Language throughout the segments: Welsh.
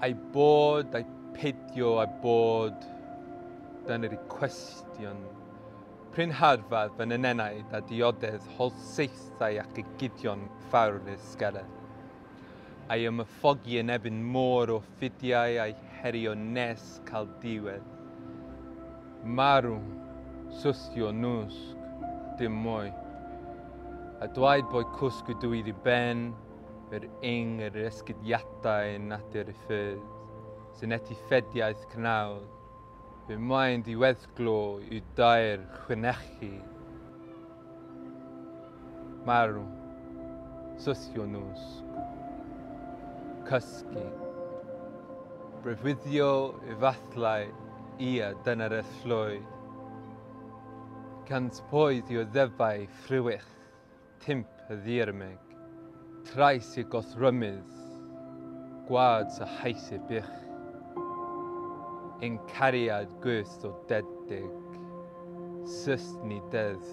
Ai bod, ai peidio a bod, dyna'r cwestiwn. Prin harfad fy nenaid a dioddedd holl saethau ac egidion fawr ysgeren. Ai ymyffogi yn ebyn môr o ffidiau a'i herio nes cael diwedd. Marw, sustio nwsg, dim mwy. A dwaid boi cwsg ydw i ddi ben, yr ing yr esgydiadau natur y ffyrdd, sy'n etifediaeth cnawd. Fy mae'n diweddglo yw dair chwynechu. Marw, sysio nwsg, cysgu. Breuddwydio efallai, ia, dyna'r ellwyd. Cant poedd i oddefau ffrwych, timp y ddiarmeg. Trais i gothrymydd, gwad sy hais y bych. Ein cariad gwyrth o dedig, syst ni deddf.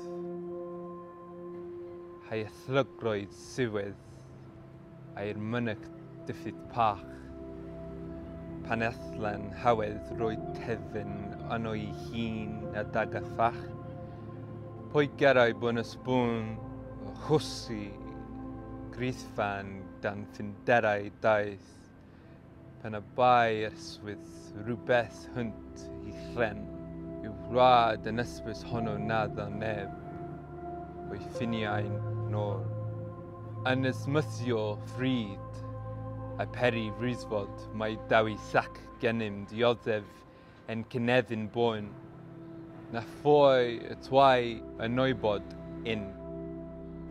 Hai ethlygroedd siwedd, a'r mynych diffydd pach. Pan ethlen hawedd roi tefyn yno i hun a dag a ffach. Pwy gerau bwn y sbwn, chwsi, grithfan dan ffinderau daeth, pan y bai yswydd rhywbeth hwnt i llen, yw wlad yn ysbrys honno na dda neb, o'i ffiniau nôl. Yn ysmythio fryd, a peri frisfod mae dawi sac gennym dioddef en cynefin boen, na phwy y twai y noibod un.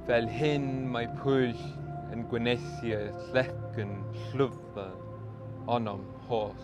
Fel hyn mae pwyll yn gwyneithiau llec yn llwfr onom holl.